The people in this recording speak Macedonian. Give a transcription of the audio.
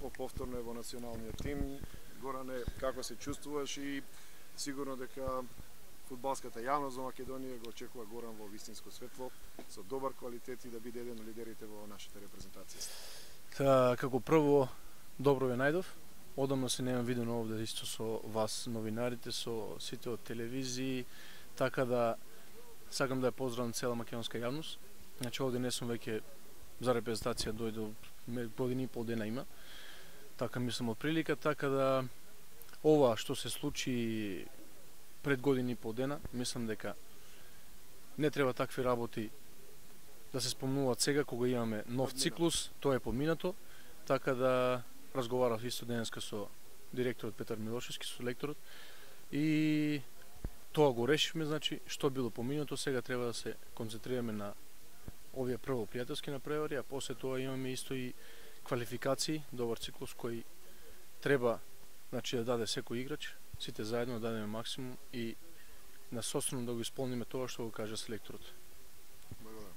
видовме повторно во националниот тим. Горане, како се чувствуваш и сигурно дека фудбалската јавност во Македонија го очекува Горан во вистинско светло, со добар квалитет и да биде еден од лидерите во нашата репрезентација. Како прво, добро ве најдов. Одамно се немам видено овде исто со вас, новинарите, со сите од телевизии, така да сакам да ја поздравам цела македонска јавност. Значи овде не сум веќе за репрезентација, дојде година и пол дена има. Така мислам од прилика, така да ова што се случи пред година и пол дена, мислам дека не треба такви работи да се спомнуваат сега кога имаме нов циклус, тоа е поминато, така да разговарав исто денеска со директорот Петар Милошевски, со лекторот, и тоа го решивме, значи, што било поминато, сега треба да се концентрираме на овие прво пријателски напревари, а после тоа имаме исто и квалификации, добар циклус кој треба, значи, да даде секој играч, сите заедно да дадеме максимум и насоствено да го исполниме тоа што го кажа селекторот. Благодарам.